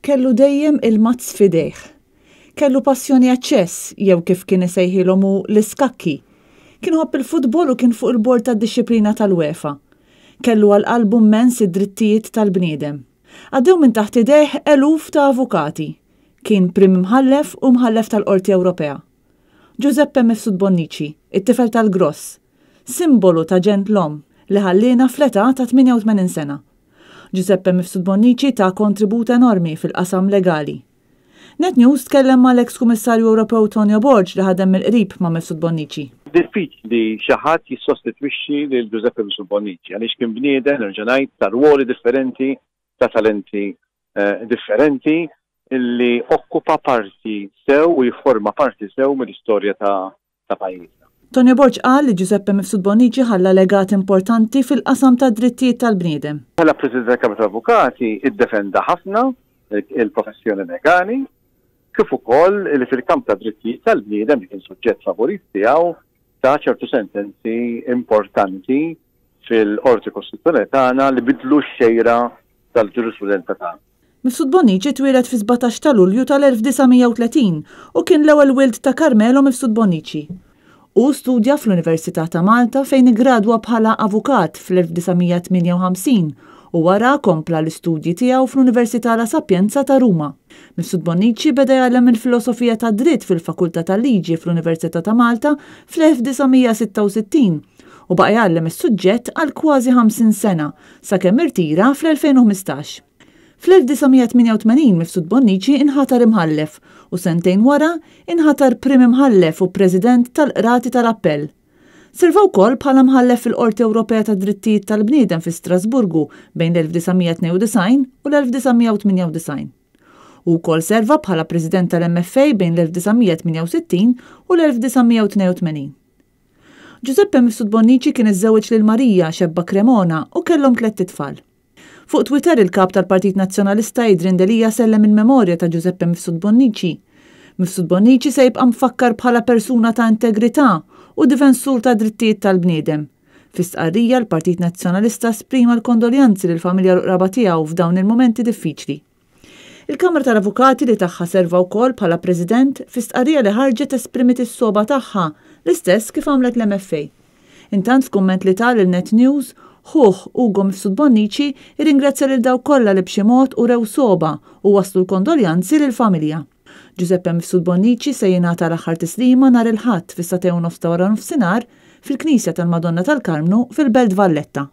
Kellu dejjem il-mazz f'idejh. Kellu passjoni għaċ-ċess, jew kif kien isejħilhom hu l-iskakki. Kien iħobb il-futbol u kien fuq il-bord tad-dixxiplina tal-UEFA. Kellu għal qalbu mmens id-drittijiet tal-bniedem. Għaddew minn taħt idejh eluf ta' avukati. Kien Prim Imħallef u Mħallef tal-Qorti Ewropea. Giuseppe Mifsud Bonnici, it-tifel tal-Gross, simbolu ta' ġentlom li ħalliena fl-età ta' 88 sena. Giuseppe Mifsud Bonnici ta kontribut enormi fil-qasam legali. Net News tkellem mal-eks Kummissarju Ewropew Tonio Borg li ħadem mill-qrib ma' Mifsud Bonnici. Diffiċli xi ħadd jissostitwixxi lil Giuseppe Mifsud Bonnici għaliex kien bniedem, nerġa' ngħid, ta' rwoli differenti, ta' talenti differenti li okkupa parti sew u jifforma parti sew mill-istorja ta' ta' pajjiżna. Tonio Borg qal li Giuseppe Mifsud Bonnici ħalla legat importanti fil-qasam tad-drittijiet tal-bniedem. Bħala President tal-Kamra tal-Avukati iddefenda ħafna il-professjoni legali kif ukoll li fil-kamp tad-drittijiet tal-bniedem li kien suġġett favorit tiegħu ta ċertu sentenzi importanti fil-Qorti Kostituzzjonali tagħna li bidlu x-xejra tal-ġurisprudenza tagħna. Mifsud Bonnici twieled fis-17 ta' Lulju tal-1930 u kien l-ewwel wild ta' Carmelo Mifsud Bonnici. Hu studja fl-Università ta' Malta fejn iggradwa bħala avukat fl-1958 u wara kompla l-istudji tiegħu fl-Università La Sapienza ta' Ruma. Mifsud Bonnici beda jgħallem il-filosofija tad-dritt fil-Fakultà tal-Liġi fl-Università ta' Malta fl-1966 u baqa' jgħallem is-suġġett għal kważi 50 sena sakemm irtira fl-2015. Fl-1988 Mifsud Bonnici inħatar Imħallef u sentejn wara inħatar Prim Imħallef u President tal-Qrati tal-Appell. Serva wkoll bħala Mħallef fil-Qorti Ewropea tad-Drittijiet tal-Bniedem fi Strasburgu bejn l-1992 u l-1998. Hu wkoll serva bħala President tal-MFA bejn l-1968 u l-1982. Giuseppe Mifsud Bonnici kien iżżewweġ lil Marija, xebba Cremona, u kellhom tlett itfal. Fuq Twitter il-Kap tal-Partit Nazzjonalista Adrian Delia sellem il-memorja ta' Giuseppe Mifsud Bonnici. Mifsud Bonnici se jibqa' mfakkar bħala persuna ta' integrità u difensur tad-drittijiet tal-bniedem. Fi stqarrija l-Partit Nazzjonalista esprima l-kondoljanzi lill-familja u l-qraba tiegħu f'dawn il-mumenti diffiċli. Il-Kamra tal-Avukati li tagħha serva wkoll bħala President, fi stqarrija li ħarġet esprimiet is-sogħba tagħha, l-istess kif għamlet l-MFA. Intant f'kumment li ta lil Net News, ħuh Ugo Mifsud Bonnici irringrazzja lil dawk kollha li b'xi mod urew sogħba u wasslu l-kondoljanzi lill-familja. Giuseppe Mifsud Bonnici se jingħata l-aħħar tislima nhar il-Ħadd fis-sagħtejn u nofs ta' waranofsinhar fil-Knisja tal-Madonna tal-Karmnu fil-Belt Valletta.